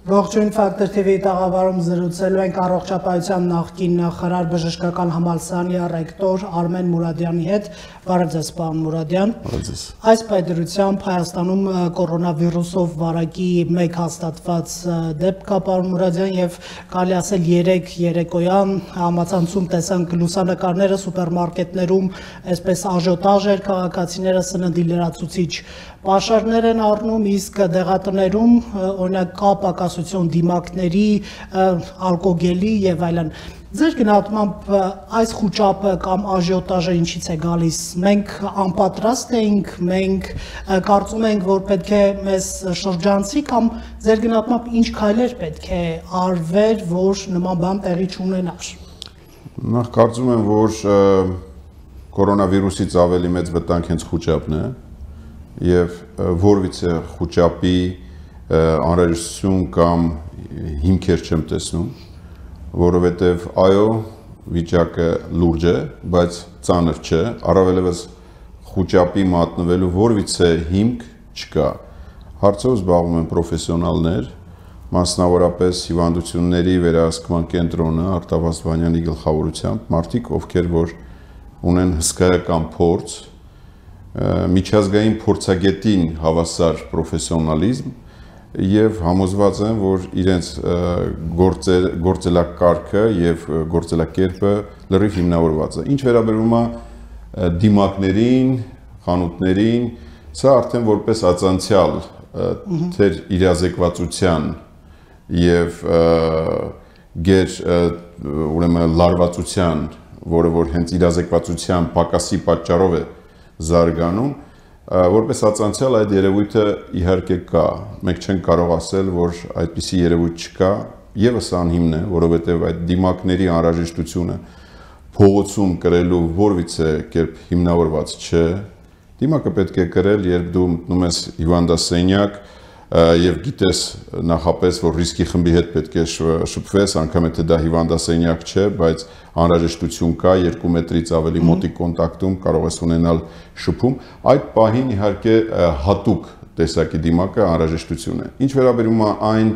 Ողջույն Factor TV տաղավարում զրուցելու ենք առողջապահության նախկին նախարար բժշկական համալսարանի ռեկտոր Արմեն Մուրադյանի հետ։ Բարև ձեզ, պարոն Մուրադյան։ Այս պայդրությամբ Հայաստանում կորոնավիրուսով վարակի 1 հաստատված դեպք կա, պարոն Մուրադյան, եւ կարելի ասել 3 երեկոյան համացանցում տեսանք լուսանկարները սուպերմարկետներում, այսպես աժիոտաժ էր, քաղաքացիները սննդի լրացուցիչ պաշարներ են առնում, իսկ դեղատներում օրինակ կա պակասություն դիմակների, ալկոգելի եւ այլն։ Ձեր գնահատմամբ այս խուճապը կամ աժիոտաժը ինչից է գալիս։ Մենք անպատրաստ էինք, մենք կարծում ենք, որ պետք է մեզ շրջանցի կամ ձեր գնահատմամբ ինչ քայլեր պետք է արվեր, որ նման բան տեղի չունենար։ Նախ կարծում եմ, որ կորոնավիրուսից ավելի մեծ վտանգ հենց խուճապն է եւ որևիցե խուճապի անհրաժեշտություն կամ հիմքեր չեմ տեսնում, որովհետեւ այո, վիճակը լուրջ է, բայց ծանր չէ, առավելևս խուճապի մատնվելու որևիցե հիմք չկա։ Հարցով զբաղվում են պրոֆեսիոնալներ, մասնավորապես հիվանդությունների վերահսկման կենտրոնը Արտավազդ Վանյանի գլխավորությամբ, մարդիկ, ովքեր որ ունեն հսկայական փորձ, միջազգային փորձագետին հավասար պրոֆեսիոնալիզմ եւ համոզված են, որ իրենց գործելակարգը եւ գործելակերպը լրիվ հիմնավորված է։ Ինչ վերաբերում է դիմակներին, խանութներին, սա արդեն որպես ածանցյալ թեր իրազեկվածության եւ ուրեմն լարվածության, որը որ հենց իրազեկվածության պակասի պատճառով է զարգանում, որպես ածանցյալ այդ երևույթը իհարկե կա։ Մենք չենք կարող ասել, որ այդպիսի երևույթ չկա, եւս անհիմն է, որովհետեւ այդ դիմակների անհրաժեշտությունը փողոցում կրելու որևիցե կերպ հիմնավորված չէ։ Դիմակը պետք է կրել, երբ դու մտնում ես հիվանդասենյակ եւ գիտես նախապես, որ ռիսկի խմբի հետ պետք է շփվես, անգամ եթե դա հիվանդասենյակ չէ, բայց անհրաժեշտություն կա 2 մետրից ավելի մոտիկ կոնտակտում կարող ես ունենալ շփում, այդ պահին իհարկե հատուկ տեսակի դիմակը անհրաժեշտություն է։ Ինչ վերաբերում է այն,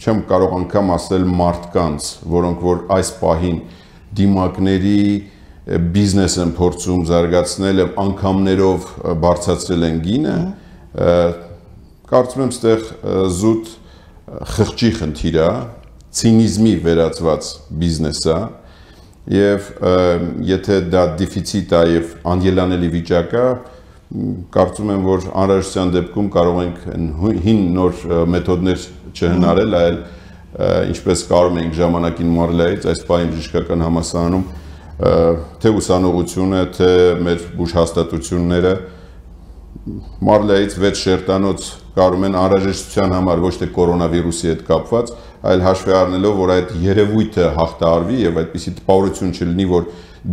չեմ կարող անգամ ասել մարդկանց, որոնք որ այս պահին դիմակների բիզնես են փորձում զարգացնել եւ անգամներով բարձրացրել են գինը, կարծում եմ ստեղ զուտ խղճի խնդիր է, ցինիզմի վերածված բիզնես է եւ եթե դա դեֆիցիտ է եւ անելանելի վիճակ է, կարծում եմ, որ անհրաժեշտության դեպքում կարող ենք հին նոր մեթոդներ չհնարել, այլ ինչպես կարող ենք ժամանակին Մարլայից այս պահին բժշկական համալսարանում թե ուսանողությունը, թե մեր բուժհաստատությունները Մարլայից 6 շերտանոց կարող են անհրաժեշտության համար ոչ թե կորոնավիրուսի հետ կապված, այլ հաշվի առնելով, որ այդ երևույթը հաղթահարվի եւ այդպիսի տպավորություն չլինի, որ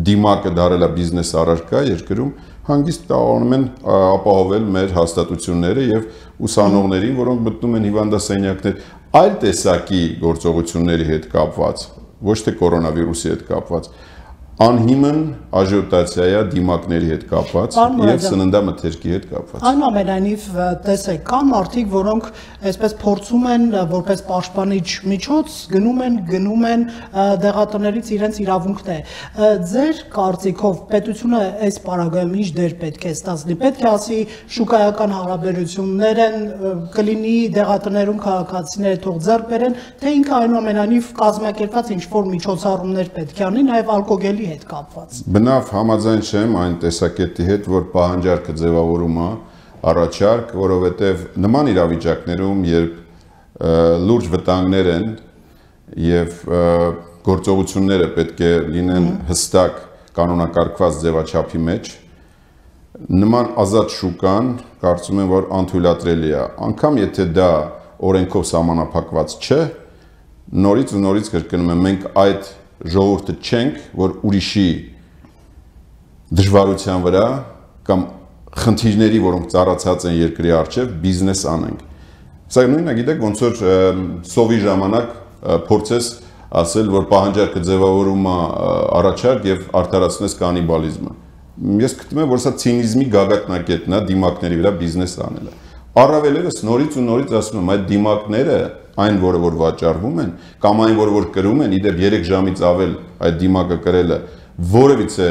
դիմակը դարել է բիզնես առարկա երկրում, հանգիստ տաղանում են ապահովել մեր հաստատությունները եւ ուսանողներին, որոնք մտնում են հիվանդասենյակներ այլ տեսակի գործողությունների հետ կապված, ոչ թե կորոնավիրուսի հետ կապված, անհիմն աժիոտացիա է դիմակների հետ կապված եւ սննդամթերքի հետ կապված։ Այնուամենայնիվ տեսեք, կան մարդիկ, որոնք այսպես փորձում են որպես պաշտպանիչ միջոց գնում են դեղատներից իրենց իրավունքն է։ Ձեր կարծիքով պետությունը այս պարագայում ինչ դեր պետք է ստացնի։ Պետք է ասի շուկայական հարաբերություններ են, կլինի դեղատներում քաղաքացիները թող ձեռք բերեն, թե ինքը այնուամենայնիվ կազմակերպված ինչ-որ միջոցառումներ պետք է անի, նաեւ ալկոգելի հետ կապված։ Բնավ համաձայն չեմ այն տեսակետի հետ, որ պահանջարկը ձևավորում է առաջարկ, որովհետև նման իրավիճակներում, երբ լուրջ վտանգներ են եւ գործողությունները պետք է լինեն հստակ կանոնակարգված ձևաչափի մեջ, նման ազատ շուկան կարծում եմ, որ անթույլատրելի է։ Անկամ եթե դա օրենքով սահմանափակված չէ, նորից ու նորից կրկնում եմ, մենք այդ ժողովուրդը չենք, որ ուրիշի դժվարության վրա կամ խնդիրների, որոնք ծառացած են երկրի առջև, բիզնես անենք։ Սա նույնը գիտեք, ոնց որ սովի ժամանակ փորձես ասել, որ պահանջարկը ձևավորում է առաջարկ եւ արդարացնես կանիբալիզմը։ Ես գտնում եմ, որ սա ցինիզմի գագաթնակետն է դիմակների վրա բիզնես անելը։ Առավելևս նորից ու նորից ասում եմ, այդ դիմակները, այն որը որ վաճառվում են, կամ այն որը որ կրում են, իդեպ 3 ժամից ավել այդ դիմակը կրելը որևիցե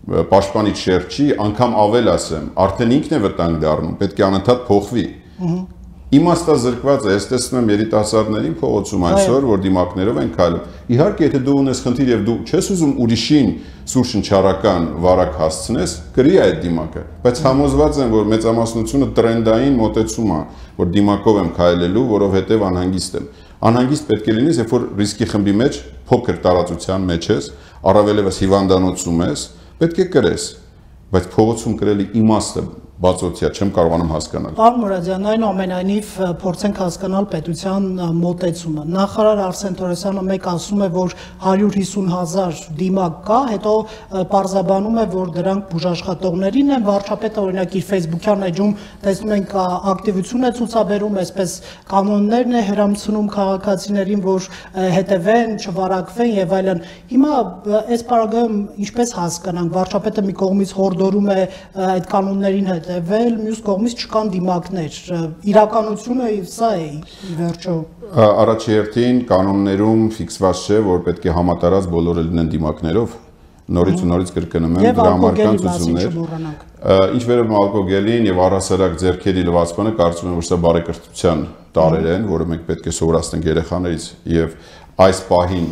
պաշտպանիչ շերտ չի, անգամ ավել ասեմ, արդեն ինքն է վտանգ դառնում, պետք է անընդհատ փոխվի։ Իմաստազրկված է, ես տեսնում եմ երիտասարդներին փողոցում այսօր, որ դիմակներով են քայլում։ Իհարկե, եթե դու ունես խնդիր եւ դու չես ուզում ուրիշին սուրշնչարական վարակ հասցնես, գրի այդ դիմակը, բայց համոզված եմ, որ մեծամասնությունը տրենդային մոտեցում է, որ դիմակով եմ քայլելու, որովհետեւ անհանգիստ եմ։ Անհանգիստ պետք է լինես, երբ որ ռիսկի խմբի մեջ փոքր տարածության մեջ ես, առավելևս հիվանդանոցում ես, պետք է կրես, բայց փողոցում կրելի իմաստը բացօթյա չեմ կարողանում հասկանալ։ Պարոն Մուրադյան, այնուամենայնիվ փորձենք հասկանալ պետության մոտեցումը։ Նախարար Արսեն Թորոսյանը մեկ ասում է, որ 150,000 դիմակ կա, հետո պարզաբանում է, որ դրանք բուժաշխատողներին են, վարչապետը օրինակ իր Facebook-յան էջում տեսնում ենք ակտիվություն է ցուցաբերում, այսպես կանոններն է հրամցնում քաղաքացիներին, որ հետևեն, չվարակվեն եւ այլն։ Հիմա այս պարագայում ինչպես հասկանանք, վարչապետը մի կողմից հորդորում է այդ կանոններին հետևել, մյուս կողմից չկան դիմակներ։ Իրականությունը սա է ի վերջո։ Առաջի հերթին կանոններում ֆիքսված չէ, որ պետք է համատարած բոլորը լինեն դիմակներով։ Նորից ու նորից կրկնում եմ, դրա համար ցուցումներ։ Ինչ վերաբերում ալկոգելին եւ առհասարակ ձեռքերի լվացմանը, կարծում եմ, որ սա բարեկրթության տարեր են, որը մենք պետք է սովորացնենք երեխաներից եւ այս պահին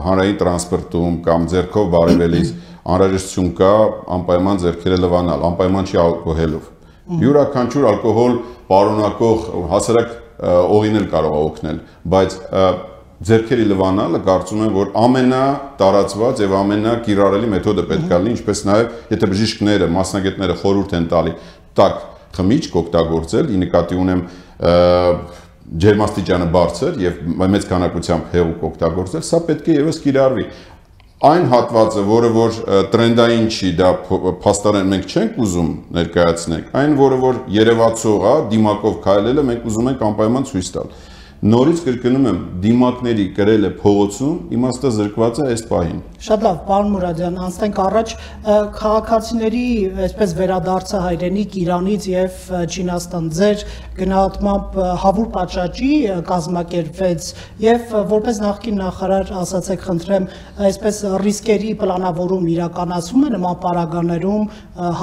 հանրային տրանսպորտում կամ ձեռքով բարևելիս անհրաժեշտություն կա անպայման ձեռքերը լվանալ, անպայման չի ալկոհոլով։ Յուրաքանչյուր ալկոհոլ պարունակող հասարակ օղին էլ կարող է օգնել, բայց ձեռքերի լվանալը կարծում եմ, որ ամենատարածված եւ ամենակիրառելի մեթոդը պետք է լինի, ինչպես նաեւ եթե բժիշկները, մասնագետները խորհուրդ են տալի տաք խմիչք օգտագործել, ի նկատի ունեմ ջերմաստիճանը բարձր եւ մեծ քանակությամբ հեղուկ օգտագործել, սա պետք է եւս կիրառվի։ Այն հատվածը, որը որ տրենդային չի, դա փաստորեն մենք չենք ուզում ներկայացնել, այն որը որ երևացող է, դիմակով քայլելը մենք ուզում ենք անպայման ցույց տալ։ Նորից կրկնում եմ, դիմակների կրելը փողոցում իմաստազրկված է այս պահին։ Շատ լավ, պարոն Մուրադյան, անցնենք առաջ քաղաքացիների այսպես վերադարձը հայրենիք Իրանից եւ Չինաստան ձեր գնահատմամբ հավուր պատշաճի կազմակերպվեց եւ որպես նախկին նախարար ասացեք խնդրեմ, այսպես ռիսկերի պլանավորում իրականացում է նման պարագաներում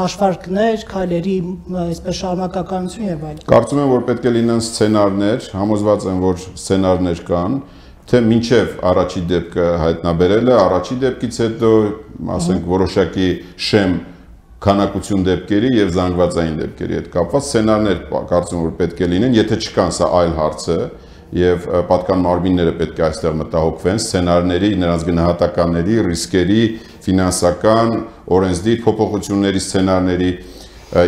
հաշվարկներ, քայլերի այսպես շարունակականություն եւ այլն։ Կարծում եմ, որ պետք է լինեն սցենարներ, համոզված եմ, որ սցենարներ կան, թե մինչև առաջի դեպքը հայտնաբերելը, առաջի դեպքից հետո, ասենք, որոշակի շեմ քանակություն դեպքերի եւ զանգվածային դեպքերի հետ կապված սցենարներ կարծում որ պետք է լինեն, եթե չկան, սա այլ հարց է եւ պատկան մարմինները պետք է այստեղ մտահոգվեն սցենարների, նրանց գնահատականների, ռիսկերի, ֆինանսական, օրենսդիր փոփոխությունների սցենարների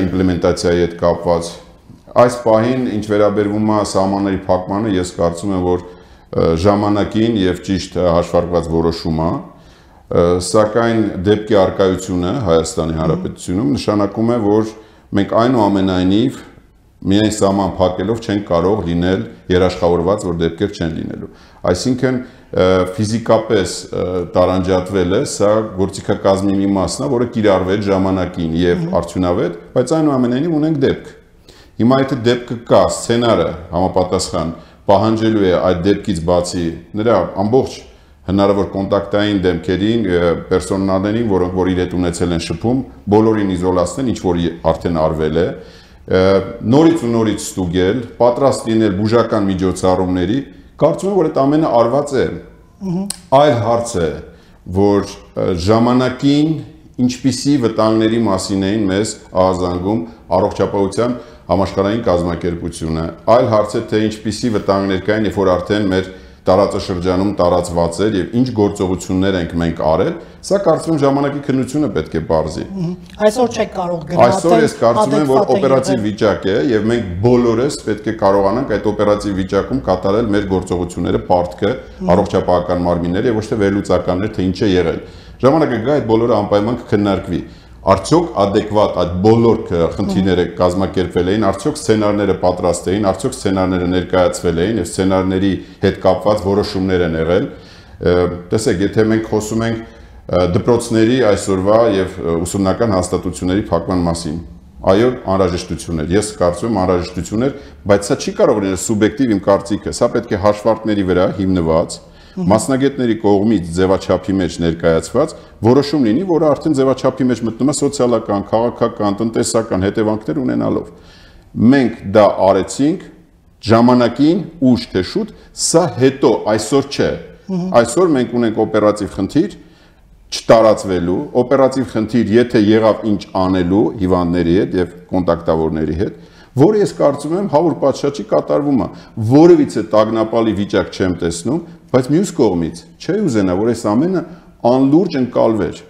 իմպլեմենտացիայի հետ կապված։ Այս պահին, ինչ վերաբերվում է սահմանների փակմանը, ես կարծում եմ, որ ժամանակին եւ ճիշտ հաշվարկված որոշում է, սակայն դեպքի արկայությունը Հայաստանի Հանրապետությունում նշանակում է, որ մենք այնուամենայնիվ միայն սահման փակելով չենք կարող լինել երաշխավորված, որ դեպքեր չեն լինելու։ Այսինքն ֆիզիկապես տարանջատվելը սա գործիքակազմի մի մասն է, որը կիրառվել ժամանակին եւ արդյունավետ, բայց այնուամենայնիվ ունենք դեպք։ Հիմա եթե դեպքը կա, սցենարը համապատասխան պահանջելու է այդ դեպքից բացի նրա ամբողջ հնարավոր կոնտակտային դեմքերին, պերսոնալներին, որոնք որ իր հետ ունեցել են շփում, բոլորին իզոլացնել, ինչ որ արդեն արվել է, նորից ու նորից ստուգել, պատրաստ լինել բուժական միջոցառումների, կարծում եմ, որ այդ ամենը արված է։ Այլ հարց է, որ ժամանակին ինչպիսի վտանգների մասին էին մեզ ահազանգում առողջապահության համաշխարհային կազմակերպությունը, այլ հարց է, թե ինչպիսի վտանգներ կային, երբ որ արդեն մեր տարածաշրջանում տարածված էր եւ ինչ գործողություններ ենք մենք արել, սա կարծում եմ ժամանակի քննությունը պետք է բարձի։ Այսօր չեք կարող գնահատել։ Այսօր ես կարծում եմ, որ օպերատիվ վիճակ է եւ մենք բոլորս պետք է կարողանանք այդ օպերատիվ վիճակում կատարել մեր գործողությունները, պարտքը, առողջապահական մարմինները եւ ոչ թե վերլուծականներ, թե ինչ է եղել։ Ժամանակը գա այդ բոլորը անպայման կքննարկվի։ Արդյոք adekvat այդ բոլոր խնդիրները կազմակերպվել էին, արդյոք սցենարները պատրաստ էին, արդյոք սցենարները ներկայացվել էին եւ սցենարների հետ կապված որոշումներ են եղել։ Տեսեք, եթե մենք խոսում ենք դպրոցների այսօրվա եւ ուսումնական հաստատությունների փակման մասին, Այո, անհրաժեշտություն էր։ Ես կարծում եմ անհրաժեշտություն էր, բայց սա չի կարող լինել սուբյեկտիվ իմ կարծիքը։ Սա պետք է հաշվարկների վրա հիմնված, մասնագետների կողմից ձևաչափի մեջ ներկայացված որոշում լինի, որը արդեն ձևաչափի մեջ մտնում է սոցիալական, քաղաքական, տնտեսական հետևանքներ ունենալով։ Մենք դա արեցինք ժամանակին ուշ թե շուտ, սա հետո այսօր չէ։ Այսօր մենք ունենք օպերատիվ խնդիր չտարածվելու, օպերատիվ խնդիր, եթե եղավ ինչ անելու հիվանդների հետ եւ կոնտակտավորների հետ, որը ես կարծում եմ հավուր պատշաճի կատարվում է, որևիցե տագնապալի վիճակ չեմ տեսնում, բայց մյուս կողմից չի ուզենա, որ այս ամենը անլուրջ ընկալվեր։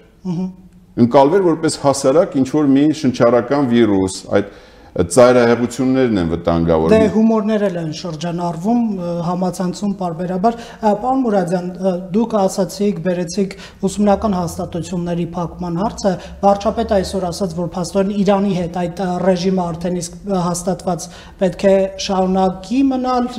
Ընկալվեր որպես հասարակ ինչ որ մի շնչառական վիրուս, այդ ծայրահեղություններն են վտանգավոր։ Դե հումորներ են շրջանառվում համացանցում պարբերաբար։ Պարոն Մուրադյան, դուք ասացիք, բերեցիք ուսումնական հաստատությունների փակման հարցը, վարչապետը այսօր ասաց, որ փաստորեն Իրանի հետ այդ ռեժիմը արդեն իսկ հաստատված պետք է շարունակի մնալ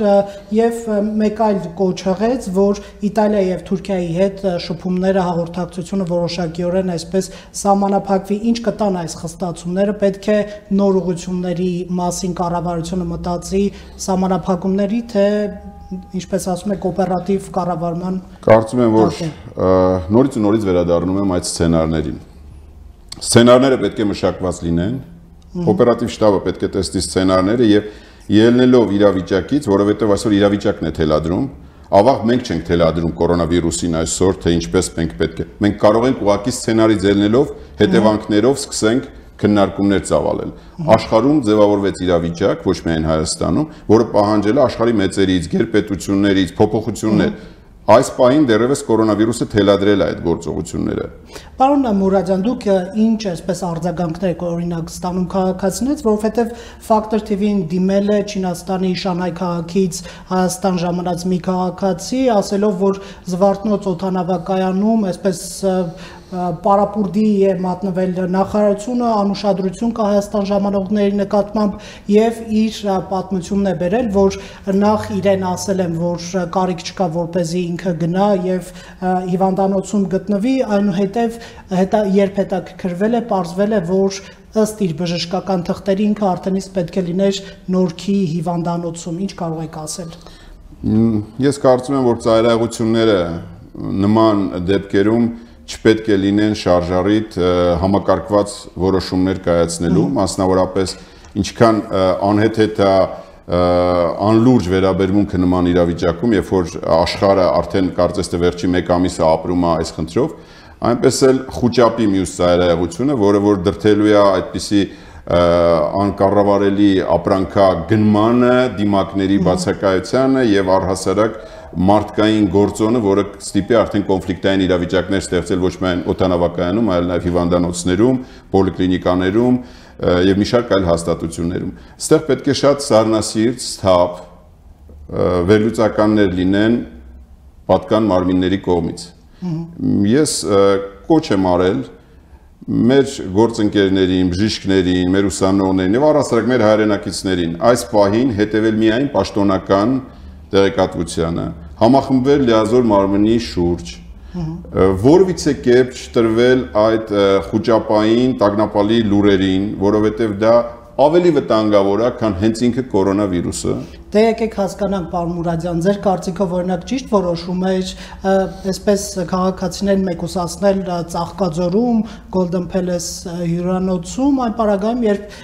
եւ մեկ այլ կոչ հղեց, որ Իտալիա եւ Թուրքիայի հետ շփումները հաղորդակցությունը որոշակիորեն այսպես սահմանափակվի։ Ինչ կտան այս խստացումները, պետք է նոր ուղղություն մասին կառավարությունը մտածի սահմանափակումների, թե ինչպես ասում եք օպերատիվ կառավարման։ Կարծում եմ, որ նորից ու նորից վերադառնում եմ այդ սցենարներին։ Սցենարները պետք է մշակված լինեն, օպերատիվ շտաբը պետք է տեսնի սցենարները եւ ելնելով իրավիճակից, որովհետեւ այսօր իրավիճակն է թելադրում, ավաղ մենք չենք թելադրում կորոնավիրուսին այսօր, թե ինչպես մենք պետք է։ Մենք կարող ենք ուղղակի սցենարից ելնելով հետևանքներով սկսենք քննարկումներ ծավալել։ Աշխարհում ձևավորվեց իրավիճակ, ոչ միայն Հայաստանում, որը պահանջել է աշխարհի մեծերից, գերպետություններից փոփոխություններ։ Այս պահին դեռևս կորոնավիրուսը թելադրել է այդ գործողությունները։ Պարոն Մուրադյան, դուք ինչ այսպես արձագանքներ օրինակ ստանում քաղաքացիներից, որովհետև Factor TV-ին դիմել է Չինաստանի Շանհայ քաղաքից Հայաստան ժամանած մի քաղաքացի, ասելով, որ Զվարթնոց օդանավակայանում այսպես պարապուրդի է մատնվել նախարարությունը, անուշադրություն կա Հայաստան ժամանողների նկատմամբ եւ իր պատմությունն է բերել, որ նախ իրեն ասել են, որ կարիք չկա, որպեսզի ինքը գնա եւ հիվանդանոցում գտնվի, այնուհետեւ երբ հետաքրքրվել է, պարզվել է, որ ըստ իր բժշկական թղթերի ինքը արդեն իսկ պետք է լիներ Նորքի հիվանդանոցում։ Ինչ կարող եք ասել։ Ես կարծում եմ, որ ծայրահեղությունները նման դեպքերում չպետք է լինեն շարժառիթ համակարգված որոշումներ կայացնելու, մասնավորապես ինչքան անհեթեթ է անլուրջ վերաբերմունքը նման իրավիճակում, երբ որ աշխարհը արդեն կարծես թե վերջի 1 ամիսը ապրում է այս խնդրով, այնպես էլ խուճապի մյուս ծայրահեղությունը, որը որ դրթելու է այդպիսի անկառավարելի ապրանքագնմանը, դիմակների բացակայությանը եւ առհասարակ մարդկային գործոնը, որը ստիպի արդեն կոնֆլիկտային իրավիճակներ ստեղծել ոչ միայն օդանավակայանում, այլ նաև հիվանդանոցներում, պոլիկլինիկաներում եւ մի շարք այլ հաստատություններում։ Այստեղ պետք է շատ սառնասիրտ, սթափ վերլուծականներ լինեն պատկան մարմինների կողմից։ Ես կոչ եմ արել մեր գործընկերներին, բժիշկներին, մեր ուսանողներին եւ առհասարակ մեր հայրենակիցներին այս պահին հետեւել միայն պաշտոնական տեղեկատվությանը, համախմբվել լիազոր մարմնի շուրջ, որևիցե կերպ չտրվել այդ խուճապային տագնապալի լուրերին, որովհետև դա ավելի վտանգավոր է, քան հենց ինքը կորոնավիրուսը։ Դե եկեք հասկանանք, պարոն Մուրադյան, ձեր կարծիքով օրինակ ճիշտ որոշում էր այսպես քաղաքացիներին մեկուսացնել Ծաղկաձորում, Golden Palace հյուրանոցում, այն պարագայում, երբ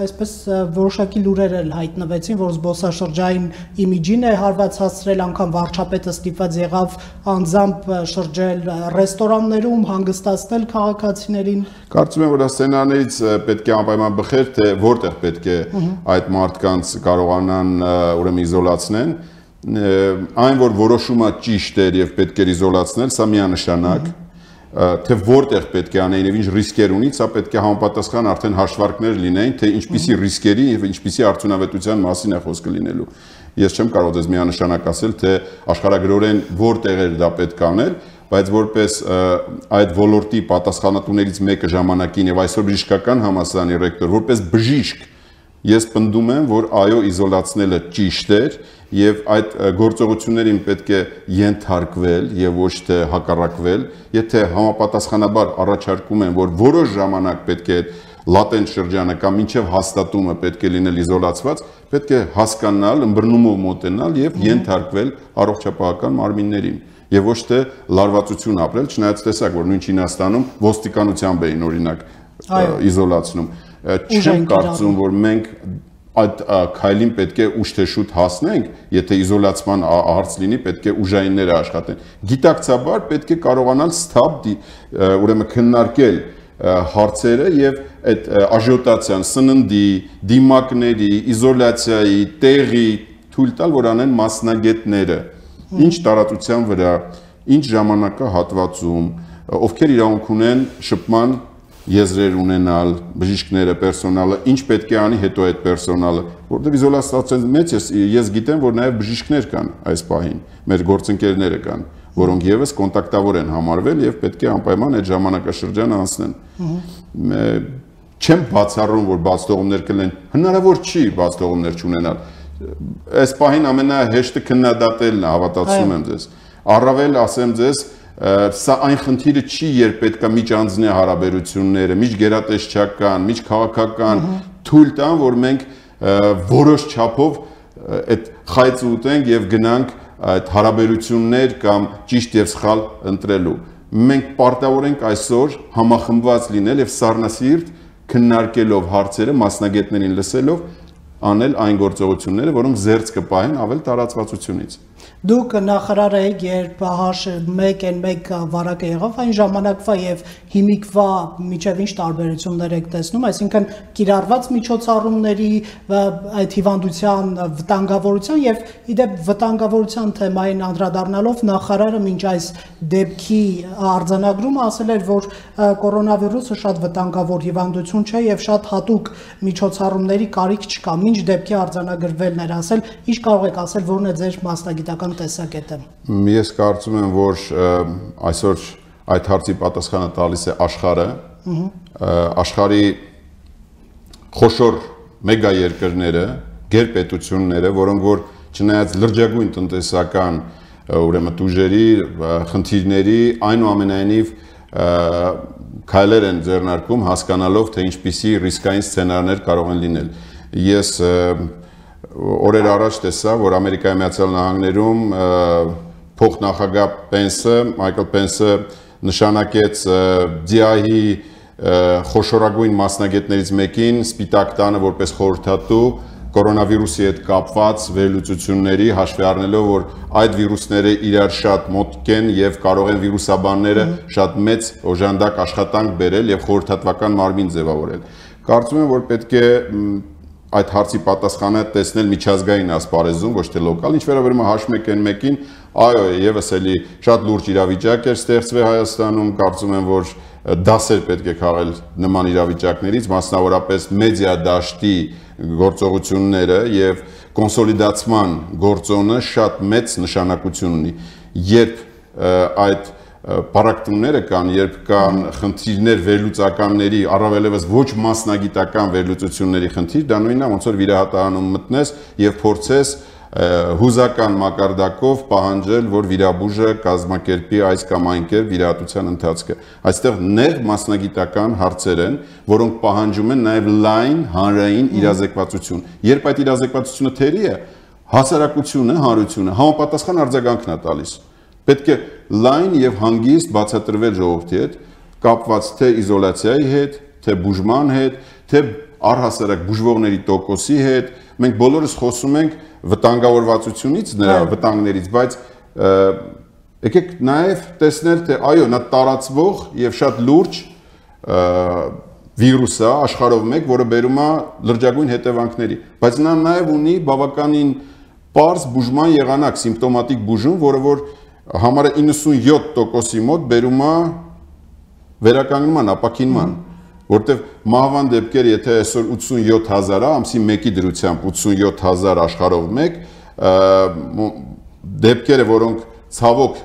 այսպես որոշակի լուրեր էլ հայտնվեցին, որ զբոսաշրջային իմիջին է հարված հասցրել, անգամ վարչապետը ստիպված եղավ անձամբ շրջել ռեստորաններում, հանգստացնել քաղաքացիներին։ Կարծում եմ, որ սցենարներից պետք է անպայման բխեր, թե որտեղ պետք է այդ մարդկանց կարողանան ուրեմն իզոլացնեն, այն որ որոշումը ճիշտ էր եւ պետք էր իզոլացնել, սա միանշանակ, թե որտեղ պետք է անեին եւ ինչ ռիսկեր ունի, սա պետք է համապատասխան արդեն հաշվարկներ լինեն, թե ինչպիսի ռիսկերի եւ ինչպիսի արդյունավետության մասին է խոսքը լինելու։ Ես չեմ կարող դες միանշանակ ասել, թե աշխարհագրորեն որտեղ էր դա պետք անել, բայց որպես այդ ոլորտի պատասխանատուներից մեկը ժամանակին եւ այսօր բժշկական համալսարանի ռեկտոր, որպես բժիշկ ես պնդում եմ, որ այո, իզոլացնելը ճիշտ էր եւ այդ գործողություններին պետք է ենթարկվել եւ ոչ թե հակառակվել, եթե համապատասխանաբար առաջարկում են, որ որոշ ժամանակ պետք է լատենտ շրջանը կամ մինչև հաստատումը պետք է լինել իզոլացված, պետք է հասկանալ, ըմբռնումով մոտենալ եւ ենթարկվել առողջապահական մարմիններին եւ ոչ թե լարվածություն ապրել, չնայած տեսակ, որ նույն Չինաստանում ոստիկանությամբ էին օրինակ իզոլացնում։ Չեմ կարծում, որ մենք այդ քայլին պետք է ուշ թե շուտ հասնենք, եթե իզոլացման հարց լինի, պետք է ուժայինները աշխատեն։ Գիտակցաբար պետք է կարողանալ սթափ ուրեմն քննարկել հարցերը եւ այդ աժիոտացիան, սննդի, դիմակների, իզոլացիայի, տեղի թույլ տալ, որ անեն մասնագետները, ինչ տարածության վրա, ինչ ժամանակահատվածում, ովքեր իրավունք ունեն շփման եզրեր ունենալ, բժիշկները, պերսոնալը, ինչ պետք է անի հետո այդ պերսոնալը, որտեղ իզոլացիան մեծ ես գիտեմ, որ նաև բժիշկներ կան այս պահին, մեր գործընկերները կան, որոնք եւս կոնտակտավոր են համարվել եւ պետք է անպայման այդ ժամանակաշրջանը անցնեն։ Չեմ բացառում, որ բացթողումներ կլինեն, հնարավոր չի բացթողումներ չունենալ։ Այս պահին ամենահեշտը քննադատելն է, հավատացնում եմ ձեզ։ Առավել ասեմ ձեզ, սա այն խնդիրը չի, երբ պետք է միջանձնի հարաբերությունները, միջգերատեսչական, միջքաղաքական թույլ տան, որ մենք որոշ չափով այդ խայծը ուտենք եւ գնանք այդ հարաբերություններ կամ ճիշտ եւ սխալ ընտրելու։ Մենք պարտավոր ենք այսօր համախմբված լինել եւ սառնասիրտ քննարկելով հարցերը, մասնագետներին լսելով անել այն գործողությունները, որոնք զերծ կպահեն ավել տարածվածությունից։ Դուք նախարար եք, երբ H1N1 վարակը եղավ, այն ժամանակվա եւ հիմիկվա միջև ինչ տարբերություններ եք տեսնում, այսինքն կիրառված միջոցառումների այդ հիվանդության վտանգավորության եւ իդեպ վտանգավորության թեմային անդրադառնալով նախարարը մինչ այս դեպքի արձանագրումը ասել էր, որ կորոնավիրուսը շատ վտանգավոր հիվանդություն չէ եւ շատ հատուկ միջոցառումների կարիք չկա։ Մինչ դեպքի արձանագրվելն էր ասել, ինչ կարող եք ասել, որն է ձեր մասնագիտական տեսակետը։ Ես կարծում եմ, որ այսօր այդ հարցի պատասխանը տալիս է աշխարհը, աշխարհի խոշոր մեգա երկրները, գերպետությունները, որոնք որ չնայած լրջագույն տնտեսական ուրեմն տուժերի, խնդիրների, այնուամենայնիվ քայլեր են ձեռնարկում հասկանալով, թե ինչպիսի ռիսկային սցենարներ կարող են լինել։ Ես օրեր առաջ տեսա, որ Ամերիկայի Միացյալ Նահանգներում փոխնախագահ Պենսը, Մայքլ Պենսը նշանակեց DI-ի խոշորագույն մասնագետներից մեկին Սպիտակ տանը որպես խորհրդատու կորոնավիրուսի հետ կապված վերլուծությունների հաշվի առնելով, որ այդ վիրուսները իրար շատ մոտիկ են եւ կարող են վիրուսաբանները շատ մեծ օժանդակ աշխատանք բերել եւ խորհրդատվական մարմին ձևավորել։ Կարծում եմ, որ պետք է այդ հարցի պատասխանը տեսնել միջազգային ասպարեզում, ոչ թե լոկալ, ինչ վերաբերում է H1N1-ին, այո, եւս էլի շատ լուրջ իրավիճակ էր ստեղծվել Հայաստանում, կարծում եմ, որ դասեր պետք է քաղել նման իրավիճակներից, մասնավորապես մեդիա դաշտի գործողությունները եւ կոնսոլիդացման գործոնը շատ մեծ նշանակություն ունի։ Երբ այդ պարակտումները կան, երբ կան խնդիրներ վերլուծականների, առավելևս ոչ մասնագիտական վերլուծությունների խնդիր, դա նույնն է, ոնց որ վիրահատարանում մտնես եւ փորձես հուզական մակարդակով պահանջել, որ վիրաբույժը կազմակերպի այս կամ այն կերպ վիրահատության ընթացքը։ Այստեղ նեղ մասնագիտական հարցեր են, որոնք պահանջում են նաեւ լայն հանրային իրազեկվածություն։ Երբ այդ իրազեկվածությունը թերի է, հասարակությունը, հանրությունը համապատասխան արձագանքն է տալիս։ Պետք է լայն եւ հանգիստ բացատրվել ժողովրդի հետ, կապված թե իզոլացիայի հետ, թե բուժման հետ, թե առհասարակ բուժվողների տոկոսի հետ։ Մենք բոլորս խոսում ենք վտանգավորվածությունից, նրա վտանգներից, բայց եկեք նաեւ տեսնել, թե այո, նա տարածվող եւ շատ լուրջ վիրուս է աշխարհով մեկ, որը բերում է լրջագույն հետևանքների, բայց նա նաեւ ունի բավականին պարզ բուժման եղանակ, սիմպտոմատիկ բուժում, որը որ համարը 97%-ի մոտ բերում է վերականգնման, ապաքինման, որտեղ մահվան դեպքեր, եթե այսօր 87,000 է, ամսի 1-ի դրությամբ 87,000 աշխարհով մեկ, դեպքերը, որոնք ցավոք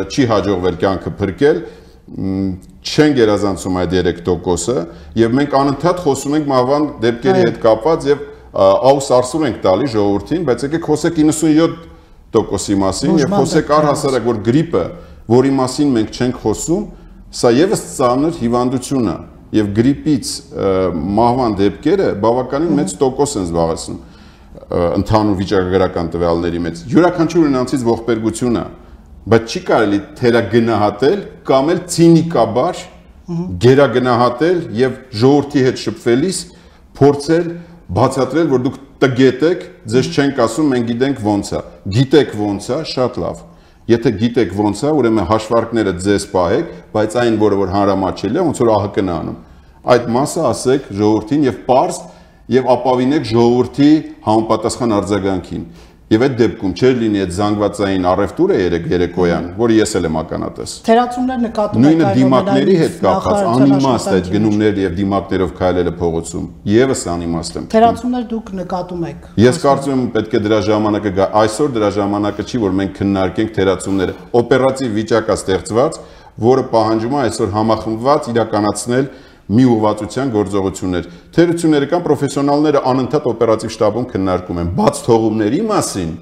չի հաջողվել կյանքը փրկել, չեն գերազանցում այդ 3%-ը, եւ մենք անընդհատ խոսում ենք մահվան դեպքերի հետ կապված եւ աուս արսուր ենք տալի ժողովրդին, բայց եկեք խոսեք 97%-ի մասին եւ խոսեք առհասարակ, որ գրիպը, որի մասին մենք չենք խոսում, սա եւս ծանր հիվանդություն է եւ գրիպից մահվան դեպքերը բավականին մեծ տոկոս են զբաղեցնում ընդհանուր վիճակագրական տվյալների մեջ։ Յուրաքանչյուր նրանցից ողբերգություն է, բայց չի կարելի թերագնահատել կամ էլ ցինիկաբար գերագնահատել եւ ժողովրդի հետ շփվելիս փորձել բացատրել, որ դուք տգետ եք, ձեզ չենք ասում, մենք գիտենք ոնց է։ Գիտեք ոնց է, շատ լավ։ Եթե գիտեք ոնց է, ուրեմն հաշվարկները ձեզ պահեք, բայց այն, որ հանրամատչելի է, ոնց որ ԱՀԿ-ն է անում։ Այդ մասը ասեք ժողովրդին եւ պարզ եւ ապավինեք ժողովրդի համապատասխան արձագանքին։ Եվ այդ դեպքում չէր լինի այդ զանգվածային առևտուրը երեկոյան, որը ես էլ եմ ականատես։ Թերացումներ նկատում եք նույնը դիմակների հետ կապված անիմաստ այդ գնումներ եւ դիմակներով քայլելը փողոցում։ Եվս անիմաստ եմ։ Թերացումներ դուք նկատում եք։ Ես կարծում եմ պետք է դրա ժամանակը գա։ Այսօր դրա ժամանակը չի, որ մենք քննարկենք թերացումները։ Օպերատիվ վիճակ է ստեղծված, որը պահանջում է այսօր համախմբված իրականացնել մի ուղղվածության գործողություններ։ Թերությունները կամ պրոֆեսիոնալները անընդհատ օպերատիվ շտաբում քննարկում են, բաց թողումների մասին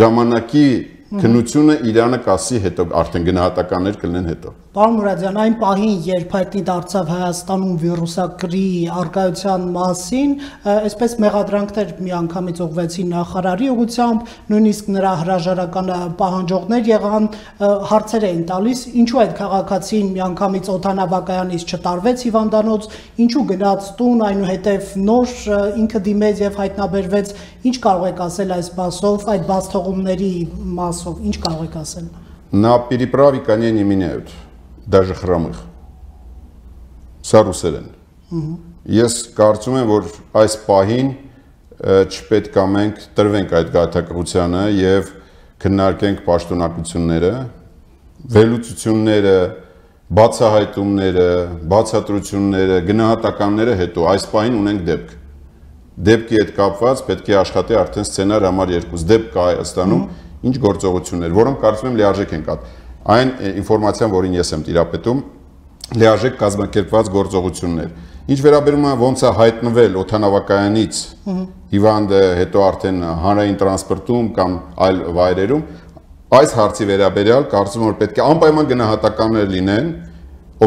ժամանակի քննությունը Իրանը կասի հետո, արդեն գնահատականներ կլինեն հետո։ Պարոն Մուրադյան, այն պահին, երբ հայտնի դարձավ Հայաստանում վիրուսակրի առկայության մասին, այսպես մեղադրանքներ միանգամից ուղղվեցին նախարարի ուղղությամբ, նույնիսկ նրա հրաժարական պահանջողներ եղան, հարցեր էին տալիս, ինչու այդ քաղաքացին միանգամից օդանավակայանից չտարվեց հիվանդանոց, ինչու գնաց տուն, այնուհետև նոր ինքը դիմեց եւ հայտնաբերվեց, ինչ կարող եք ասել այս մասով, այդ բացթողումների մասով, ինչ կարող եք ասել։ На переправе не меняют, даже хромых։ Սա ռուսերեն։ Ես կարծում եմ, որ այս պահին չպետք է մենք տրվենք այդ գայթակղությանը եւ քննարկենք պաշտոնակությունները, վերլուծությունները, բացահայտումները, բացատրությունները, գնահատականները հետո այս պահին ունենք դեպք։ Դեպքի հետ կապված պետք է աշխատի արդեն սցենար համար 2 դեպք կա Հայաստանում, ինչ գործողություններ, որոնք կարծում եմ լիարժեք են կատ։ Այն ինֆորմացիան, որին ես եմ տիրապետում, լիարժեք կազմակերպված գործողություններ։ Ինչ վերաբերում է ոնց է հայտնվել օդանավակայանից հիվանդը, հետո արդեն հանրային տրանսպորտում կամ այլ վայրերում, այս հարցի վերաբերյալ կարծում եմ, որ պետք է անպայման գնահատականներ լինեն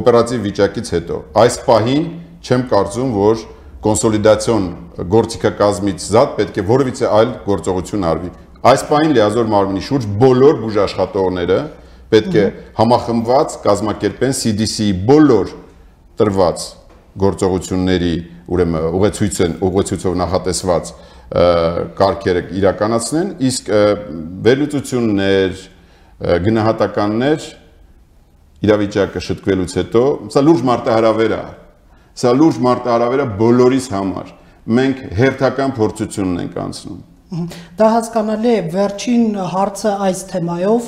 օպերատիվ վիճակից հետո։ Այս պահին չեմ կարծում, որ կոնսոլիդացիոն գործիքակազմից զատ պետք է որևիցե այլ գործողություն արվի։ Այս պահին լիազոր մարմնի շուրջ բոլոր բուժաշխատողները պետք է համախմբված կազմակերպեն CDC-ի բոլոր տրված գործողությունների, ուրեմն ուղեցույցով նախատեսված կարգերը իրականացնեն, իսկ վերլուծություններ, գնահատականներ իրավիճակը շտկվելուց հետո, սա լուրջ մարտահրավեր է։ Սա լուրջ մարտահրավեր է բոլորիս համար։ Մենք հերթական փորձությունն ենք անցնում։ Դա հասկանալի է, վերջին հարցը այս թեմայով,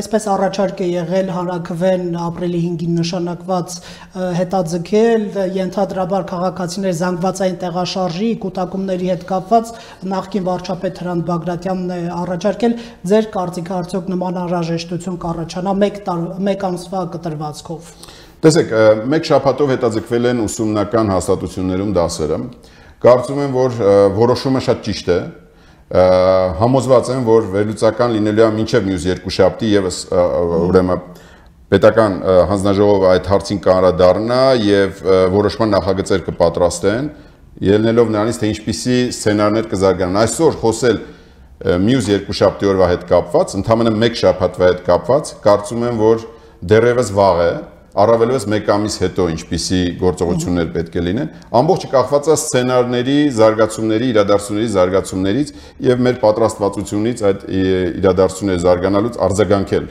այսպես առաջարկ է եղել հանրաքվեն ապրիլի 5-ին նշանակված հետաձգել, ենթադրաբար քաղաքացիներ զանգվածային տեղաշարժի կուտակումների հետ կապված նախկին վարչապետ Հրանտ Բագրատյանն է առաջարկել, ձեր կարծիքը արդյոք նման անհրաժեշտություն կառաջանա մեկ ամսվա կտրվածքով։ Տեսեք, մեկ շաբաթով հետաձգվել են ուսումնական հաստատություններում դասերը։ Կարծում եմ, որ որոշումը շատ ճիշտ է։ Համոզված եմ, որ վերլուծական լինելու է մինչև մյուս երկուշաբթի եւս ուրեմն պետական հանձնաժողովը այդ հարցին կանդրադառնա եւ որոշման նախագծեր կպատրաստեն, ելնելով նրանից, թե ինչպիսի սցենարներ կզարգանան։ Այսօր խոսել մյուս երկուշաբթի օրվա հետ կապված, ընդհանրապես մեկ շաբաթվա հետ կապված, կարծում եմ, որ դեռևս վաղ է, առավելևս մեկ ամիս հետո ինչպիսի գործողություններ պետք է լինեն, ամբողջը կախված է սցենարների, զարգացումների, իրադարձությունների զարգացումներից եւ մեր պատրաստվածությունից այդ իրադարձությունները զարգանալուց արձագանքել։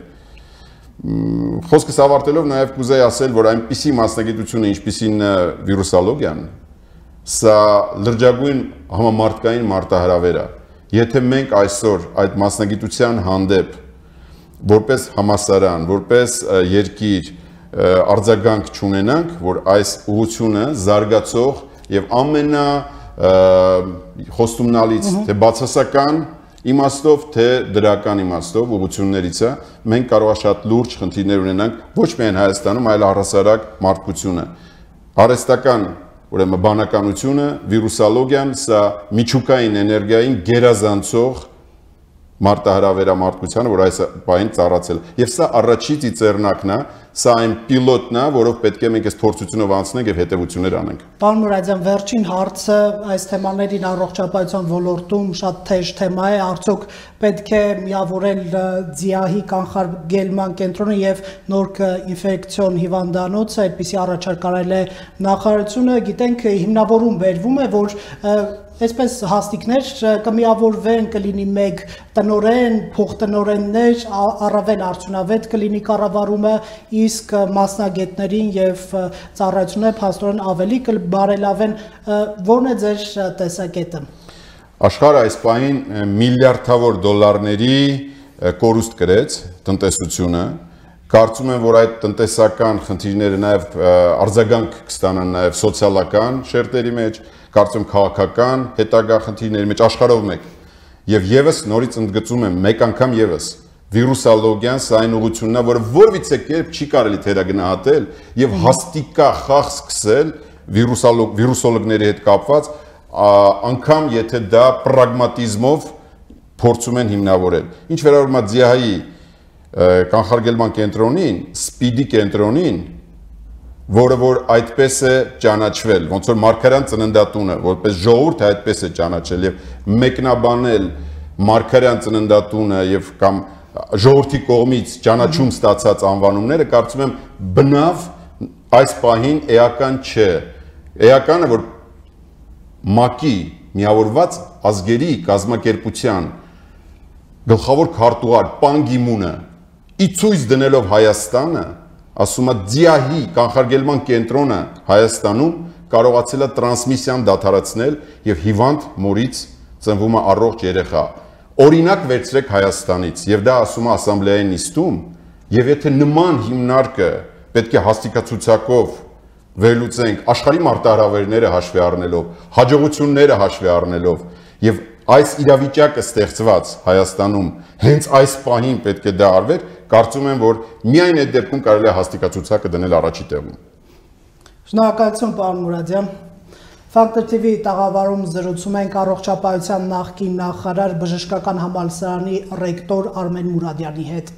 Խոսքս ավարտելով նաեւ կուզեի ասել, որ այնպիսի մասնագիտությունը, ինչպիսին վիրուսոլոգիան, սա լրջագույն համամարտկային մարտահրավեր է։ Եթե մենք այսօր այդ մասնագիտության հանդեպ որպես համալսարան, որպես երկիր արձագանք չունենանք, որ այս ուղղությունը զարգացող եւ ամենա խոստումնալից թե բացասական իմաստով, թե դրական իմաստով ուղղություններից է, մենք կարող է շատ լուրջ խնդիրներ ունենանք ոչ միայն Հայաստանում, այլ առհասարակ մարդկությունը։ Արհեստական, ուրեմն բանականությունը, վիրուսոլոգիան, սա միջուկային էներգիային գերազանցող մարտահրավեր է մարդկությանը, որ այս պահին ծառացել։ Եվ սա առաջի ծիծեռնակն է սա այն պիլոտն է, որով պետք է մենք այս փորձությունով անցնենք եւ հետեւություններ անենք։ Պարոն Մուրադյան, վերջին հարցը այս թեմաներին առողջապահության ոլորտում շատ թեժ թեմա է, արդյոք պետք է միավորել ՁԻԱՀ-ի կանխարգելման կենտրոնը եւ նոր ինֆեկցիոն հիվանդանոցը, այդպիսի առաջարկ արել է նախարարությունը, գիտենք հիմնավորում բերվում է, որ այսպես հաստիկներ կմիավորվեն, կլինի մեկ տնօրեն, փոխտնօրեններ, առավել արդյունավետ կլինի կառավարումը, իսկ մասնագետներին եւ ծառայությունները փաստորեն ավելի կբարելավեն, որն է ձեր տեսակետը։ Աշխարհը այս պահին միլիարդավոր դոլարների կորուստ կրեց տնտեսությունը, կարծում եմ, որ այդ տնտեսական խնդիրները նաեւ արձագանք կստանան նաեւ սոցիալական շերտերի մեջ, կարծում քաղաքական հետագա խնդիրների մեջ աշխարհով մեկ եւ եւս նորից ընդգծում եմ մեկ անգամ եւս վիրուսոլոգիան սա այն ուղղությունն է, որը որևիցե կերպ չի կարելի թերագնահատել եւ հաստիկա խաղ սկսել վիրուսոլոգների հետ կապված անգամ եթե դա պրագմատիզմով փորձում են հիմնավորել։ Ինչ վերաբերում է ՁԻԱՀ-ի կանխարգելման կենտրոնին, սպիդի կենտրոնին, որը որ այդպես է ճանաչվել, ոնց որ Մարգարյան ծննդատունը, որպես ժողովուրդ այդպես է ճանաչել եւ մեկնաբանել Մարգարյան ծննդատունը եւ կամ ժողովրդի կողմից ճանաչում ստացած անվանումները, կարծում եմ բնավ այս պահին էական չէ։ Էականը որ ՄԱԿ-ի միավորված ազգերի կազմակերպության գլխավոր քարտուղար Պան Գի-մունը ի ցույց դնելով Հայաստանը ասում է ՁԻԱՀ-ի կանխարգելման կենտրոնը Հայաստանում կարողացել է տրանսմիսիան դադարեցնել եւ հիվանդ մորից ծնվում է առողջ երեխա։ Օրինակ վերցրեք Հայաստանից եւ դա ասում է ասամբլեայի նիստում եւ եթե նման հիմնարկը պետք է հաստիկացուցակով վերլուծենք աշխարհի մարտահրավերները հաշվի առնելով, հաջողությունները հաշվի առնելով եւ այս իրավիճակը ստեղծված Հայաստանում հենց այս պահին պետք է դա արվեր, կարծում եմ, որ միայն այդ դեպքում կարելի է հաստիկացուցակը դնել առաջի տեղում։ Շնորհակալություն, պարոն Մուրադյան։ Factor TV տաղավարում զրուցում ենք առողջապահության նախկին նախարար բժշկական համալսարանի ռեկտոր Արմեն Մուրադյանի հետ։